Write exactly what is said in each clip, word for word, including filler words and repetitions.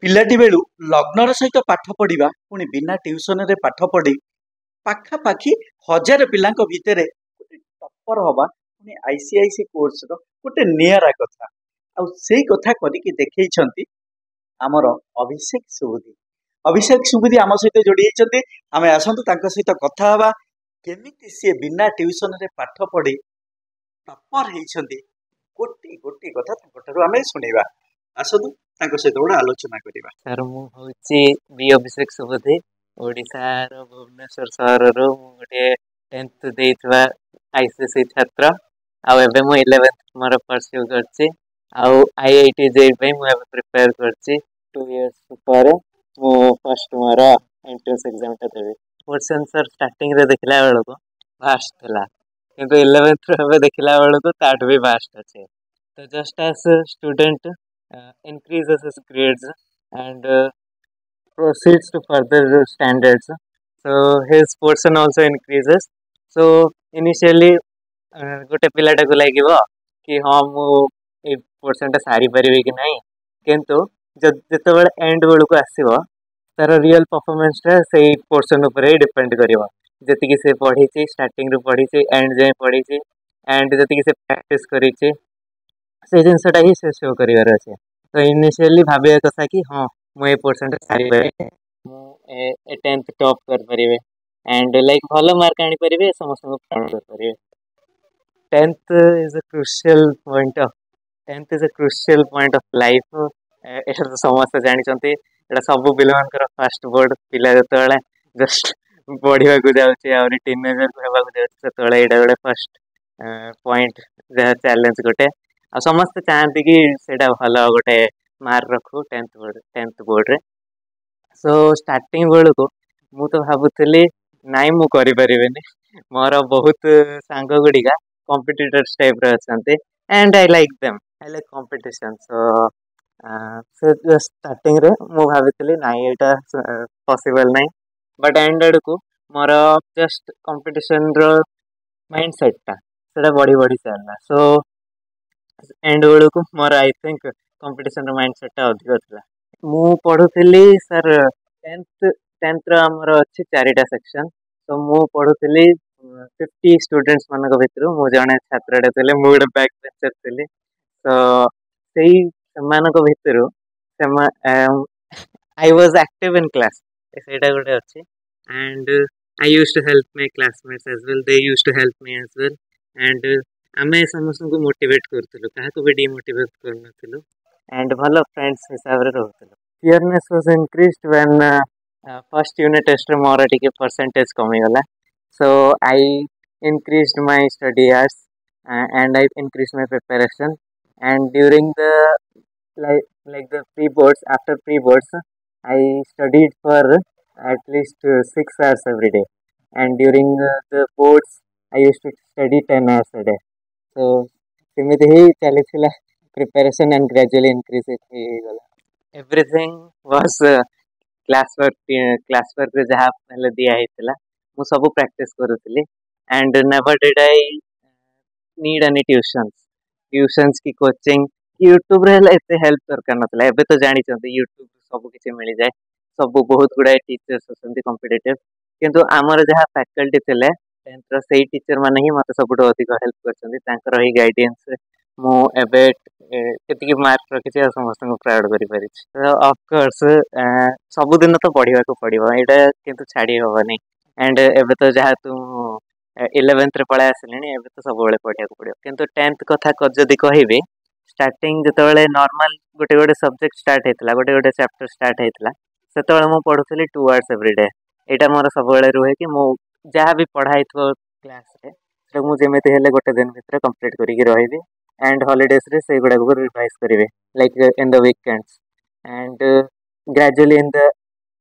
ପିଲାଟି ବେଳୁ ଲଗ୍ନର ସହିତ ପାଠ ପଢ଼ିବା, ପୁଣି ବିନା ଟ୍ୟୁସନରେ ପାଠ ପଢ଼ି ପାଖାପାଖି ହଜାରେ ପିଲାଙ୍କ ଭିତରେ ଗୋଟେ ଟପ୍ପର ହବା, ପୁଣି I C I C କୋର୍ସର ଗୋଟେ ନିଆରା କଥା। ଆଉ ସେଇ କଥା କରିକି ଦେଖେଇଛନ୍ତି ଆମର ଅଭିଷେକ ସୁବୁଧି। ଅଭିଷେକ ସୁବୁଧି ଆମ ସହିତ ଯୋଡ଼ି ହେଇଛନ୍ତି। ଆମେ ଆସନ୍ତୁ ତାଙ୍କ ସହିତ କଥା ହେବା, କେମିତି ସିଏ ବିନା ଟ୍ୟୁସନରେ ପାଠ ପଢ଼ି ଟପ୍ପର ହେଇଛନ୍ତି। ଗୋଟି ଗୋଟି କଥା ତାଙ୍କଠାରୁ ଆମେ ଶୁଣିବା। ଆସନ୍ତୁ ତାଙ୍କ ସହିତ ଗୋଟେ ଆଲୋଚନା କରିବା। ସାର୍, ମୁଁ ହେଉଛି ବି ଅଭିଷେକ ସୁବୁଧି, ଓଡ଼ିଶାର ଭୁବନେଶ୍ୱର ସହରରୁ। ମୁଁ ଗୋଟିଏ ଟେନ୍ଥ ଦେଇଥିବା I C C ଛାତ୍ର, ଆଉ ଏବେ ମୁଁ ଇଲେଭେନ୍ଥ ମୋର ପରସ୍ୟୁ କରିଛି, ଆଉ I I T JEE ପାଇଁ ମୁଁ ଏବେ ପ୍ରିପେୟାର କରିଛି। ଟୁ ଇୟର୍ସ ପରେ ମୁଁ ଫାର୍ଷ୍ଟ ମୋର ଏଣ୍ଟ୍ରାନ୍ସ ଏକ୍ଜାମଟା ଦେବି। ପୋର୍ସନ୍ ସାର୍, ଷ୍ଟାର୍ଟିଂରେ ଦେଖିଲା ବେଳକୁ ଭାଷ୍ଟ ଥିଲା, କିନ୍ତୁ ଇଲେଭେନ୍ଥରୁ ଏବେ ଦେଖିଲା ବେଳକୁ ତାଠୁ ବି ଭାଷ୍ଟ ଅଛି। ତ just as student increases his grades and uh, proceeds to further standards, so his portion also increases. So initially uh, ଗୋଟେ ପିଲାଟାକୁ ଲାଗିବ କି ହଁ, ମୁଁ ଏଇ ପୋର୍ସନଟା ସାରିପାରିବି କି ନାହିଁ। କିନ୍ତୁ ଯେତେବେଳେ ଏଣ୍ଡ ବେଳକୁ ଆସିବ, ତାର ରିଅଲ ପରଫର୍ମାନ୍ସଟା ସେଇ ପୋର୍ସନ ଉପରେ ହିଁ ଡିପେଣ୍ଡ କରିବ। ଯେତିକି ସେ ପଢ଼ିଛି, ଷ୍ଟାର୍ଟିଂରୁ ପଢ଼ିଛି, ଏଣ୍ଡ ଯାଏଁ ପଢ଼ିଛି, ଆଣ୍ଡ ଯେତିକି ସେ ପ୍ରାକ୍ଟିସ୍ କରିଛି, ସେ ଜିନିଷଟା ହିଁ ସେ ଶୋ କରିବାର ଅଛି। ତ ଇନିସିଆଲି ଭାବିବା କଥା କି ହଁ, ମୁଁ ଏ ପୋର୍ସନଟା ସାରିପାରିବି, ମୁଁ ଏ ଟେନ୍ଥ ଟପ୍ କରିପାରିବି ଆଣ୍ଡ ଲାଇକ୍ ଭଲ ମାର୍କ ଆଣିପାରିବି, ସମସ୍ତଙ୍କୁ ପ୍ରାଉଡ଼ କରିପାରିବି। Tenth is a crucial point of tenth is a crucial point of life. ଏଇଟା ତ ସମସ୍ତେ ଜାଣିଛନ୍ତି। ଏଇଟା ସବୁ ପିଲାମାନଙ୍କର ଫାଷ୍ଟ ବୋର୍ଡ଼। ପିଲା ଯେତେବେଳେ ଜଷ୍ଟ ବଢ଼ିବାକୁ ଯାଉଛି, ଆହୁରି ଟିନେଜର ହେବାକୁ ଯାଉଛି, ସେତେବେଳେ ଏଇଟା ଗୋଟେ ଫାଷ୍ଟ ପଏଣ୍ଟ, ଯାହା ଚ୍ୟାଲେଞ୍ଜ ଗୋଟେ। ଆଉ ସମସ୍ତେ ଚାହାନ୍ତି କି ସେଇଟା ଭଲ ଗୋଟେ ମାର୍କ ରଖୁ ଟେନ୍ଥ ବୋର୍ଡ଼ ଟେନ୍ଥ ବୋର୍ଡ଼ରେ। ସୋ ଷ୍ଟାର୍ଟିଂ ବେଳକୁ ମୁଁ ତ ଭାବୁଥିଲି, ନାଇଁ, ମୁଁ କରିପାରିବିନି। ମୋର ବହୁତ ସାଙ୍ଗ ଗୁଡ଼ିକା କମ୍ପିଟିଟର୍ସ ଟାଇପ୍ର ଅଛନ୍ତି, and I like them, I like competition. So ସେ ଷ୍ଟାର୍ଟିଂରେ ମୁଁ ଭାବିଥିଲି, ନାଇଁ, ଏଇଟା ପସିବଲ୍ ନାହିଁ। ବଟ୍ ଏଣ୍ଡ ଆଡ଼କୁ ମୋର ଜଷ୍ଟ କମ୍ପିଟିସନ୍ର ମାଇଣ୍ଡ ସେଟ୍ଟା ସେଇଟା ବଢ଼ି ବଢ଼ି ଚାଲିଲା। ସୋ ଏଣ୍ଡ ବେଳକୁ ମୋର I think କମ୍ପିଟିସନ୍ର ମାଇଣ୍ଡ ସେଟ୍ଟା ଅଧିକ ଥିଲା। ମୁଁ ପଢ଼ୁଥିଲି ସାର୍, ଟେନ୍ଥ ଟେନ୍ଥର ଆମର ଅଛି ଚାରିଟା ସେକ୍ସନ୍। ତ ମୁଁ ପଢ଼ୁଥିଲି, ଫିଫ୍ଟି ଷ୍ଟୁଡେଣ୍ଟସ୍ ମାନଙ୍କ ଭିତରୁ ମୁଁ ଜଣେ ଛାତ୍ରଟେ ଥିଲି। ମୁଁ ଗୋଟେ ବ୍ୟାକ୍ ବେଞ୍ଚର ଥିଲି। ତ ସେଇ ସେମାନଙ୍କ ଭିତରୁ ସେମା I was active in class, ସେଇଟା ଗୋଟେ ଅଛି, and I used to help my classmates as well, they used to help me as well, and ଆମେ ସମସ୍ତଙ୍କୁ ମୋଟିଭେଟ୍ କରୁଥିଲୁ, କାହାକୁ ବି ଡିମୋଟିଭେଟ୍ କରୁନଥିଲୁ, ଆଣ୍ଡ ଭଲ ଫ୍ରେଣ୍ଡସ୍ ହିସାବରେ ରହୁଥିଲୁ। Fearness was increased when first unit ଟେଷ୍ଟରେ ମୋର ଟିକେ ପରସେଣ୍ଟେଜ୍ କମିଗଲା। So I increased my study hours uh, and I increased my preparation, and during the like like the pre boards, after pre boards, I studied for at least uh, six hours every day, and during uh, the boards I used to study ten hours a day. So ସେମିତି ହିଁ ଚାଲିଥିଲା preparation, and gradually increase ହେଇଗଲା। Everything was class work. Class ୱାର୍କରେ ଯାହା ହେଲେ ଦିଆ ହେଇଥିଲା, ମୁଁ ସବୁ ପ୍ରାକ୍ଟିସ୍ କରୁଥିଲି, and never did I need any tuitions tuitions କି କୋଚିଂ। ୟୁଟ୍ୟୁବରେ ହେଲେ ଏତେ ହେଲ୍ପ ଦରକାର ନଥିଲା। ଏବେ ତ ଜାଣିଛନ୍ତି, ୟୁଟ୍ୟୁବ ସବୁ କିଛି ମିଳିଯାଏ, ସବୁ ବହୁତ ଗୁଡ଼ାଏ ଟିଚର୍ସ ଅଛନ୍ତି କମ୍ପିଟେଟିଭ୍। କିନ୍ତୁ ଆମର ଯାହା ଫ୍ୟାକଲ୍ଟି ଥିଲେ ଟେନ୍ଥର, ସେଇ ଟିଚର ମାନେ ହିଁ ମୋତେ ସବୁଠୁ ଅଧିକ ହେଲ୍ପ କରିଛନ୍ତି। ତାଙ୍କର ହିଁ ଗାଇଡେନ୍ସରେ ମୁଁ ଏବେ ଏତିକି ମାର୍କ ରଖିଛି ଆଉ ସମସ୍ତଙ୍କୁ ପ୍ରାଉଡ଼ କରିପାରିଛି। ତ ଅଫକୋର୍ସ ସବୁଦିନ ତ ପଢ଼ିବାକୁ ପଡ଼ିବ, ଏଇଟା କିନ୍ତୁ ଛାଡ଼ି ହେବନି। ଆଣ୍ଡ ଏବେ ତ ଯେହେତୁ ମୁଁ ଇଲେଭେନ୍ଥରେ ପଳେଇ ଆସିଲିଣି, ଏବେ ତ ସବୁବେଳେ ପଢ଼ିବାକୁ ପଡ଼ିବ। କିନ୍ତୁ ଟେନ୍ଥ କଥା ଯଦି କହିବି, ଷ୍ଟାର୍ଟିଂ ଯେତେବେଳେ ନର୍ମାଲ ଗୋଟେ ଗୋଟେ ସବଜେକ୍ଟ ଷ୍ଟାର୍ଟ ହେଇଥିଲା, ଗୋଟେ ଗୋଟେ ଚାପ୍ଟର ଷ୍ଟାର୍ଟ ହେଇଥିଲା, ସେତେବେଳେ ମୁଁ ପଢ଼ୁଥିଲି ଟୁ ଆୱାର୍ସ ଏଭ୍ରି ଡେ। ଏଇଟା ମୋର ସବୁବେଳେ ରୁହେ କି ମୁଁ ଯାହା ବି ପଢ଼ା ହେଇଥିବ କ୍ଲାସ୍ରେ, ସେଟାକୁ ମୁଁ ଯେମିତି ହେଲେ ଗୋଟେ ଦିନ ଭିତରେ କମ୍ପ୍ଲିଟ୍ କରିକି ରହିବି, ଆଣ୍ଡ ହଲିଡେଜରେ ସେଇଗୁଡ଼ାକୁ ରିଭାଇଜ୍ କରିବି, like in the weekends. And gradually in the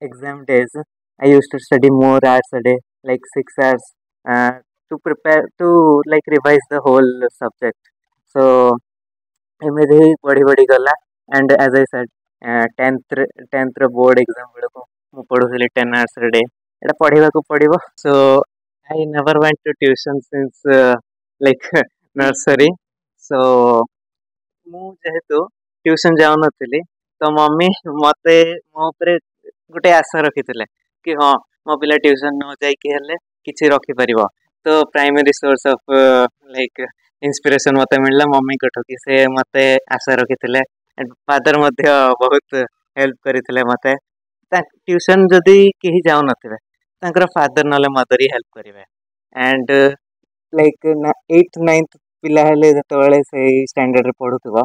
exam days I used to study more hours a day, like six hours, uh, to prepare to like revise the whole subject. So ଏମିତି ହିଁ ବଢ଼ି ବଢ଼ି ଗଲା। And as I said, ଟେନ୍ଥରେ ଟେନ୍ଥର board exam ବେଳକୁ ମୁଁ ପଢ଼ୁଥିଲି ten hours ଏ day. ଏଇଟା ପଢ଼ିବାକୁ ପଡ଼ିବ। So I never went to tuition since like nursery. So ମୁଁ ଯେହେତୁ ଟ୍ୟୁସନ୍ ଯାଉନଥିଲି, ତ ମମି ମୋତେ ମୋ ଉପରେ ଗୋଟେ ଆଶା ରଖିଥିଲେ କି ହଁ, ମୋ ପିଲା ଟ୍ୟୁସନ୍ ନ ଯାଇକି ହେଲେ କିଛି ରଖିପାରିବ। ତ primary source of like inspiration ମୋତେ ମିଳିଲା ମମିଙ୍କଠୁ କି ସେ ମୋତେ ଆଶା ରଖିଥିଲେ। ଫାଦର ମଧ୍ୟ ବହୁତ ହେଲ୍ପ କରିଥିଲେ ମୋତେ। ଟ୍ୟୁସନ୍ ଯଦି କେହି ଯାଉନଥିବେ, ତାଙ୍କର ଫାଦର ନହେଲେ ମଦର ହିଁ ହେଲ୍ପ କରିବେ। ଆଣ୍ଡ ଲାଇକ୍ ଏଇଟ୍ ନାଇନ୍ଥ ପିଲା ହେଲେ, ଯେତେବେଳେ ସେଇ ଷ୍ଟାଣ୍ଡାର୍ଡ଼ରେ ପଢ଼ୁଥିବ,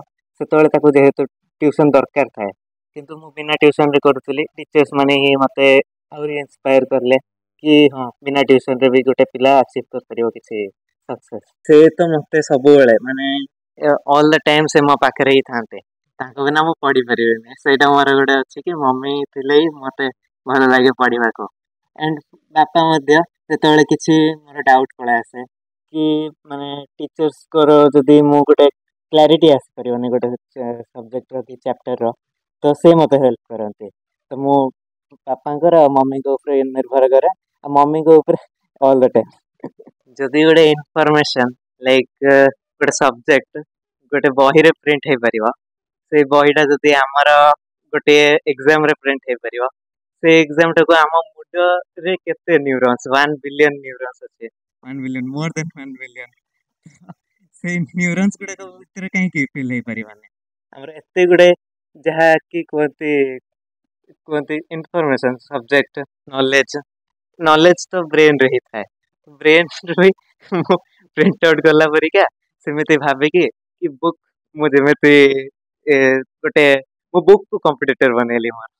ସେତେବେଳେ ତାକୁ ଯେହେତୁ ଟ୍ୟୁସନ୍ ଦରକାର ଥାଏ। କିନ୍ତୁ ମୁଁ ବିନା ଟ୍ୟୁସନ୍ରେ କରୁଥିଲି। ଟିଚର୍ସ ମାନେ ହିଁ ମୋତେ ଆହୁରି ଇନ୍ସପାୟାର କଲେ କି ହଁ, ବିନା ଟ୍ୟୁସନ୍ରେ ବି ଗୋଟେ ପିଲା ଆଚିଭ୍ କରିପାରିବ କିଛି ସକ୍ସେସ୍। ସେ ତ ମୋତେ ସବୁବେଳେ ମାନେ ଅଲ୍ the time ସେ ମୋ ପାଖରେ ହିଁ ଥାନ୍ତେ। ତାଙ୍କ ବିନା ମୁଁ ପଢ଼ିପାରିବିନି। ସେଇଟା ମୋର ଗୋଟେ ଅଛି କି ମମି ଥିଲେ ହିଁ ମୋତେ ଭଲ ଲାଗେ ପଢ଼ିବାକୁ। ଆଣ୍ଡ ବାପା ମଧ୍ୟ, ଯେତେବେଳେ କିଛି ମୋର ଡାଉଟ୍ ପଳେଇ ଆସେ କି ମାନେ ଟିଚର୍ସଙ୍କର ଯଦି ମୁଁ ଗୋଟେ କ୍ଲାରିଟି ଆସିପାରିବନି ଗୋଟେ ସବଜେକ୍ଟର କି ଚାପ୍ଟରର, ତ ସେ ମୋତେ ହେଲ୍ପ କରନ୍ତି। ତ ମୁଁ ବାପାଙ୍କର ଆଉ ମମିଙ୍କ ଉପରେ ନିର୍ଭର କରେ, ଆଉ ମମିଙ୍କ ଉପରେ ଅଲ୍ the time. ଯଦି ଗୋଟେ ଇନଫର୍ମେସନ୍ ଲାଇକ୍ ଗୋଟେ ସବଜେକ୍ଟ ଗୋଟେ ବହିରେ ପ୍ରିଣ୍ଟ ହେଇପାରିବ, ସେଇ ବହିଟା ଯଦି ଆମର ଗୋଟିଏ ଏକ୍ଜାମରେ ପ୍ରିଣ୍ଟ ହେଇପାରିବ, ସେ ଏକ୍ଜାମଟାକୁ ଆମ ମୁଣ୍ଡରେ କେତେ ନ୍ୟୁରନ୍ସ, ୱାନ୍ ବିଲିୟନ ନ୍ୟୁରନ୍ସ ଅଛି, one billion, more than one billion, ସେଇ ନ୍ୟୁରନ୍ସ ଗୁଡ଼ାକ ଭିତରେ କାହିଁକି ଫିଲ୍ ହେଇପାରିବନି ଆମର ଏତେ ଗୁଡ଼େ ଯାହାକି କୁହନ୍ତି କୁହନ୍ତି ଇନଫର୍ମେସନ୍, ସବଜେକ୍ଟ, ନଲେଜ? ନଲେଜ ତ ବ୍ରେନ୍ରେ ହିଁ ଥାଏ। ବ୍ରେନ୍ରୁ ହିଁ ମୁଁ ପ୍ରିଣ୍ଟ ଆଉଟ୍ କଲା ପରିକା ସେମିତି ଭାବିକି କି ବୁକ୍ ମୁଁ ଯେମିତି ଗୋଟେ ମୁଁ ବୁକ୍କୁ କମ୍ପିଟିଟର ବନେଇଲି ମୋର।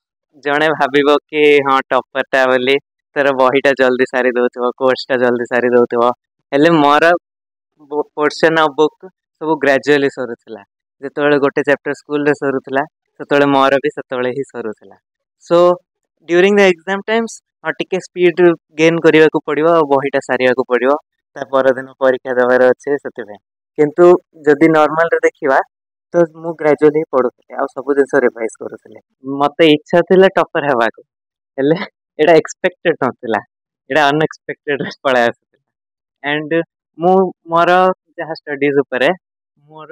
ଜଣେ ଭାବିବ କି ହଁ, ଟପରଟା ବୋଲି ତାର ବହିଟା ଜଲ୍ଦି ସାରି ଦେଉଥିବ, କୋର୍ସଟା ଜଲ୍ଦି ସାରି ଦେଉଥିବ। ହେଲେ ମୋର ପୋର୍ସନ୍ ଅଫ୍ ବୁକ୍ ସବୁ ଗ୍ରାଜୁଆଲି ସରୁଥିଲା। ଯେତେବେଳେ ଗୋଟେ ଚାପ୍ଟର ସ୍କୁଲରେ ସରୁଥିଲା, ସେତେବେଳେ ମୋର ବି ସେତେବେଳେ ହିଁ ସରୁଥିଲା। So during the exam times ହଁ, ଟିକେ ସ୍ପିଡ଼ ଗେନ୍ କରିବାକୁ ପଡ଼ିବ ଆଉ ବହିଟା ସାରିବାକୁ ପଡ଼ିବ, ତା ପରଦିନ ପରୀକ୍ଷା ଦେବାର ଅଛି, ସେଥିପାଇଁ। କିନ୍ତୁ ଯଦି ନର୍ମାଲରେ ଦେଖିବା, ତ ମୁଁ ଗ୍ରାଜୁଆଲି ପଢ଼ୁଥିଲି ଆଉ ସବୁ ଜିନିଷ ରିଭାଇଜ କରୁଥିଲି। ମୋତେ ଇଚ୍ଛା ଥିଲା ଟପର ହେବାକୁ, ହେଲେ ଏଇଟା ଏକ୍ସପେକ୍ଟେଡ଼ ନଥିଲା। ଏଇଟା ଅନଏକ୍ସପେକ୍ଟେଡ଼ ପଳେଇ ଆସିଥିଲା। ଆଣ୍ଡ ମୁଁ ମୋର ଯାହା ଷ୍ଟଡିଜ୍ ଉପରେ ମୋର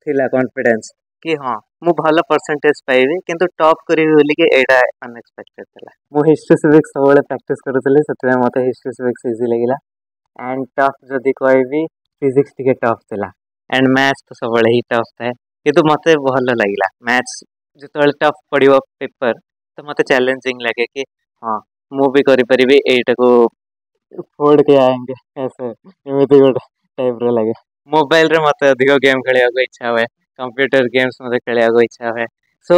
ଥିଲା କନଫିଡେନ୍ସ କି ହଁ, ମୁଁ ଭଲ ପରସେଣ୍ଟେଜ ପାଇବି, କିନ୍ତୁ ଟପ୍ କରିବି ବୋଲିକି ଏଇଟା ଅନଏକ୍ସପେକ୍ଟେଡ଼ ଥିଲା। ମୁଁ ହିଷ୍ଟ୍ରି, ସିଭିକ୍ସ ସବୁବେଳେ ପ୍ରାକ୍ଟିସ୍ କରୁଥିଲି, ସେଥିପାଇଁ ମୋତେ ହିଷ୍ଟ୍ରି, ସିଭିକ୍ସ ଇଜି ଲାଗିଲା। ଆଣ୍ଡ ଟଫ୍ ଯଦି କହିବି, ଫିଜିକ୍ସ ଟିକେ ଟଫ୍ ଥିଲା। ଆଣ୍ଡ ମ୍ୟାଥ୍ ତ ସବୁବେଳେ ହିଁ ଟଫ୍ ଥାଏ, କିନ୍ତୁ ମୋତେ ଭଲ ଲାଗିଲା ମ୍ୟାଥ୍ସ। ଯେତେବେଳେ ଟଫ୍ ପଡ଼ିବ ପେପର୍, ତ ମୋତେ ଚ୍ୟାଲେଞ୍ଜିଂ ଲାଗେ କି ହଁ, ମୁଁ ବି କରିପାରିବି ଏଇଟାକୁ, फोड़ के आएंगे, ऐसे ଏମିତି ଗୋଟେ ଟାଇପ୍ର ଲାଗେ। ମୋବାଇଲରେ ମୋତେ ଅଧିକ ଗେମ୍ ଖେଳିବାକୁ ଇଚ୍ଛା ହୁଏ, କମ୍ପ୍ୟୁଟର ଗେମ୍ସ ମୋତେ ଖେଳିବାକୁ ଇଚ୍ଛା ହୁଏ। ସୋ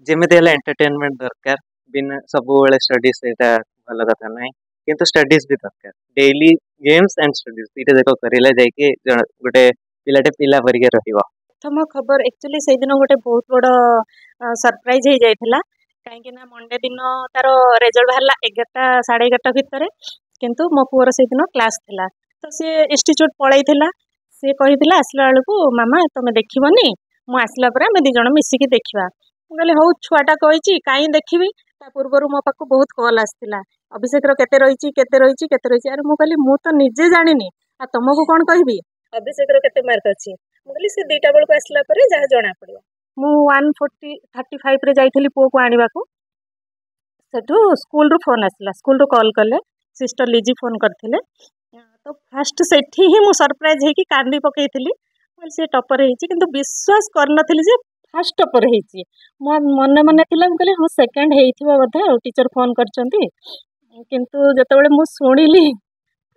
ଯେମିତି ହେଲେ ଏଣ୍ଟରଟେନମେଣ୍ଟ ଦରକାର। ବିନା ସବୁବେଳେ ଷ୍ଟଡିଜ୍, ସେଇଟା ଭଲ କଥା ନାହିଁ, କିନ୍ତୁ ଷ୍ଟଡିଜ୍ ବି ଦରକାର। ଡେଇଲି ଗେମ୍ସ ଆଣ୍ଡ ଷ୍ଟଡିଜ୍ ଦୁଇଟା ଯାକ କରିଲେ ଯାଇକି ଜଣେ ଗୋଟେ ପିଲାଟେ ପିଲା ପରିକା ରହିବ। ପ୍ରଥମ ଖବର ଆକ୍ଚୁଆଲି ସେଇଦିନ ଗୋଟେ ବହୁତ ବଡ଼ ସରପ୍ରାଇଜ ହେଇଯାଇଥିଲା, କାହିଁକି ନା ମଣ୍ଡେ ଦିନ ତାର ରେଜଲ୍ଟ ବାହାରିଲା ଏଗାରଟା ସାଢ଼େ ଏଗାରଟା ଭିତରେ। କିନ୍ତୁ ମୋ ପୁଅର ସେଇଦିନ କ୍ଲାସ୍ ଥିଲା, ତ ସିଏ ଇନଷ୍ଟିଚ୍ୟୁଟ୍ ପଳେଇଥିଲା। ସିଏ କହିଥିଲା ଆସିଲା ବେଳକୁ, "ମାମା, ତମେ ଦେଖିବନି, ମୁଁ ଆସିଲା ପରେ ଆମେ ଦୁଇ ଜଣ ମିଶିକି ଦେଖିବା।" ମୁଁ କହିଲି, ହଉ, ଛୁଆଟା କହିଛି, କାହିଁ ଦେଖିବି। ତା ପୂର୍ବରୁ ମୋ ପାଖକୁ ବହୁତ କଲ୍ ଆସିଥିଲା, ଅଭିଷେକର କେତେ ରହିଛି, କେତେ ରହିଛି, କେତେ ରହିଛି? ଆରେ, ମୁଁ କହିଲି, ମୁଁ ତ ନିଜେ ଜାଣିନି, ଆଉ ତମକୁ କ'ଣ କହିବି ଅଭିଷେକର କେତେ ମାର୍କ ଅଛି। ମୁଁ କହିଲି, ସେ ଦୁଇଟା ବେଳକୁ ଆସିଲା ପରେ ଯାହା ଜଣା ପଡ଼ିବ। ମୁଁ ୱାନ୍ ଫୋର୍ଟି ଥାର୍ଟି ଫାଇଭରେ ଯାଇଥିଲି ପୁଅକୁ ଆଣିବାକୁ। ସେଠୁ ସ୍କୁଲରୁ ଫୋନ୍ ଆସିଲା, ସ୍କୁଲରୁ କଲ୍ କଲେ, ସିଷ୍ଟର ଲିଜି ଫୋନ୍ କରିଥିଲେ। ତ ଫାଷ୍ଟ ସେଠି ହିଁ ମୁଁ ସରପ୍ରାଇଜ୍ ହେଇକି କାନ୍ଦି ପକେଇଥିଲି। କହିଲି, ସେ ଟପର ହେଇଛି। କିନ୍ତୁ ବିଶ୍ୱାସ କରିନଥିଲି ଯେ ଫାଷ୍ଟ ଟପର ହେଇଛି। ମୋ ମନେ ମନେ ଥିଲା, ମୁଁ କହିଲି, ହଁ, ସେକେଣ୍ଡ ହେଇଥିବ ବୋଧେ ଆଉ, ଟିଚର ଫୋନ୍ କରିଛନ୍ତି। କିନ୍ତୁ ଯେତେବେଳେ ମୁଁ ଶୁଣିଲି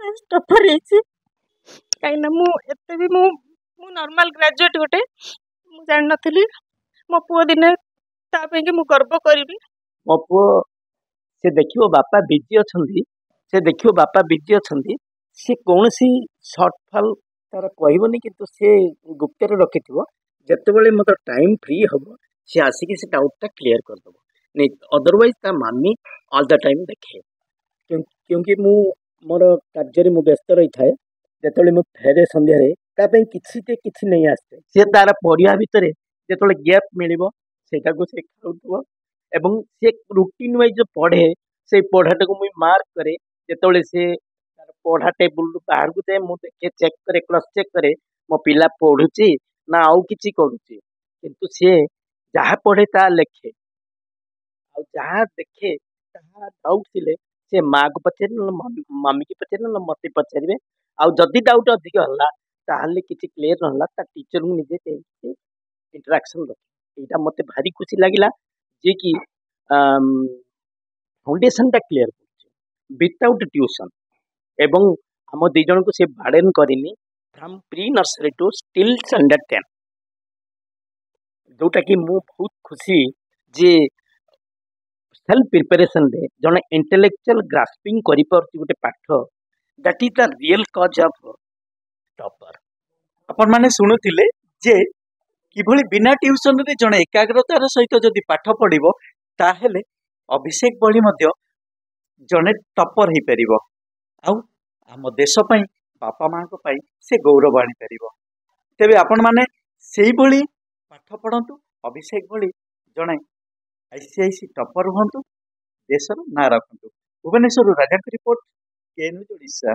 ଫାଷ୍ଟ ଟପର ହେଇଛି, କାହିଁକିନା ମୁଁ ଏତେ ବି ମୁଁ ମୁଁ ନର୍ମାଲ ଗ୍ରାଜୁଏଟ୍ ଗୋଟେ, ମୁଁ ଜାଣିନଥିଲି ମୋ ପୁଅ ଦିନେ ତା ପାଇଁକି ମୁଁ ଗର୍ବ କରିବି। ମୋ ପୁଅ ସେ ଦେଖିବ ବାପା ବିଜି ଅଛନ୍ତି, ସେ ଦେଖିବ ବାପା ବିଜି ଅଛନ୍ତି, ସେ କୌଣସି ସର୍ଟ ଫଲ୍ ତାର କହିବନି, କିନ୍ତୁ ସେ ଗୁପ୍ତରେ ରଖିଥିବ। ଯେତେବେଳେ ମୋତେ ଟାଇମ୍ ଫ୍ରି ହେବ, ସେ ଆସିକି ସେ ଡାଉଟ୍ଟା କ୍ଲିୟର କରିଦେବ। ନାଇଁ, ଅଦରୱାଇଜ୍ ତା ମାମି ଅଲ୍ the time ଦେଖେ। କ୍ୟୁଁକି ମୁଁ ମୋର କାର୍ଯ୍ୟରେ ମୁଁ ବ୍ୟସ୍ତ ରହିଥାଏ। ଯେତେବେଳେ ମୁଁ ଫେରେ ସନ୍ଧ୍ୟାରେ, ତା ପାଇଁ କିଛି ଟେ କିଛି ନେଇ ଆସିଥାଏ। ସେ ତାର ପଢ଼ିବା ଭିତରେ ଯେତେବେଳେ ଗ୍ୟାପ୍ ମିଳିବ, ସେଇଟାକୁ ସେ ଖାଉଥିବ ଏବଂ ସେ ରୁଟିନ୍ ୱାଇଜ୍ ପଢ଼େ। ସେଇ ପଢ଼ାଟାକୁ ମୁଇଁ ମାର୍କ କରେ। ଯେତେବେଳେ ସେ ତାର ପଢ଼ା ଟେବୁଲରୁ ବାହାରକୁ ଯାଏ, ମୁଁ ଦେଖେ, ଚେକ୍ କରେ, କ୍ରସ୍ ଚେକ୍ କରେ, ମୋ ପିଲା ପଢ଼ୁଛି ନା ଆଉ କିଛି କରୁଛି। କିନ୍ତୁ ସିଏ ଯାହା ପଢ଼େ ତାହା ଲେଖେ, ଆଉ ଯାହା ଦେଖେ ତାହା ଡାଉଟ୍ ଥିଲେ ସେ ମାଆକୁ ପଚାରେ, ନହେଲେ ମମିକି ପଚାରେ, ନହେଲେ ମୋତେ ପଚାରିବେ। ଆଉ ଯଦି ଡାଉଟ୍ ଅଧିକ ହେଲା, ତାହେଲେ କିଛି କ୍ଲିୟର ନହେଲା, ତା ଟିଚରଙ୍କୁ ନିଜେ ଯାଇକି ଇଣ୍ଟରାକ୍ସନ୍ ରଖେ। ଏଇଟା ମୋତେ ଭାରି ଖୁସି ଲାଗିଲା ଯିଏକି ଫାଉଣ୍ଡେସନଟା କ୍ଲିୟର କରୁଛି ୱିଥାଉଟ୍ ଟ୍ୟୁସନ୍, ଏବଂ ଆମ ଦୁଇ ଜଣଙ୍କୁ ସେ ବାର୍ଡେନ୍ କରିନି from pre nursery to till standard ten, ଯେଉଁଟାକି ମୁଁ ବହୁତ ଖୁସି ଯେ ସେଲ୍ଫ ପ୍ରିପାରେସନରେ ଜଣେ ଇଣ୍ଟେଲେକ୍ଚୁଆଲ ଗ୍ରାସ୍ପିଂ କରିପାରୁଛି ଗୋଟେ ପାଠ। That is the real cause of topper. ଆପଣମାନେ ଶୁଣୁଥିଲେ ଯେ କିଭଳି ବିନା ଟ୍ୟୁସନରେ ଜଣେ ଏକାଗ୍ରତାର ସହିତ ଯଦି ପାଠ ପଢ଼ିବ, ତାହେଲେ ଅଭିଷେକ ଭଳି ମଧ୍ୟ ଜଣେ ଟପର ହେଇପାରିବ, ଆଉ ଆମ ଦେଶ ପାଇଁ, ବାପା ମାଆଙ୍କ ପାଇଁ ସେ ଗୌରବ ଆଣିପାରିବ। ତେବେ ଆପଣମାନେ ସେଇଭଳି ପାଠ ପଢ଼ନ୍ତୁ, ଅଭିଷେକ ଭଳି ଜଣେ I C I C topper ହୁଅନ୍ତୁ, ଦେଶର ନାଁ ରଖନ୍ତୁ। ଭୁବନେଶ୍ୱରରୁ ରାଜାଙ୍କ ରିପୋର୍ଟ, କେ ନ୍ୟୁଜ୍ ଓଡ଼ିଶା।